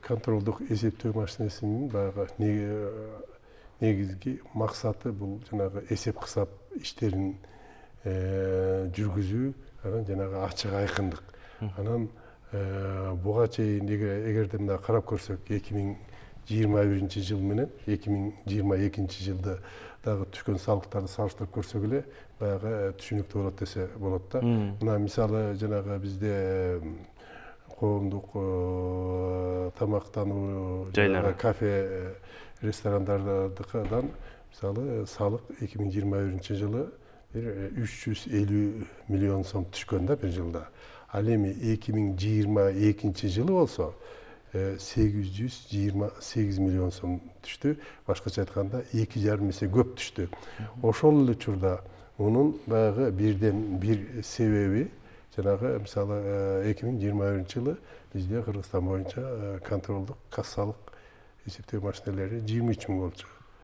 контролдук эсептөө машинесинин баягы негизги максаты бул жанагы эсеп кысап иштерин жүргүзүү, анан жанагы ачык айкындык. Анан буга чейин эгерде мына карап көрсөк 2021-жыл менен 2022-жылда дагы түшкөн салыктарды салыштырып көрсөк эле баягы түшүнүктүү болот десе болот да. Мына мисалы жанагы бизде коомдук тамактануу жайлары, кафе, ресторандардыкыдан мисалы салык 2021-жылы 350 миллион сом түшкөн да бир жылда. Ал эми 2022-жылы болсо 828 миллион сом түштү. Башкача айтканда 2,5 эсе көп түштү. Ошол эле учурда мунун баягы бирден бир себеби жанагы мисалы 2021-жылы бизде Кыргызстан боюнча контролдук кассалык эсептөө машинелери 23 миң болчу.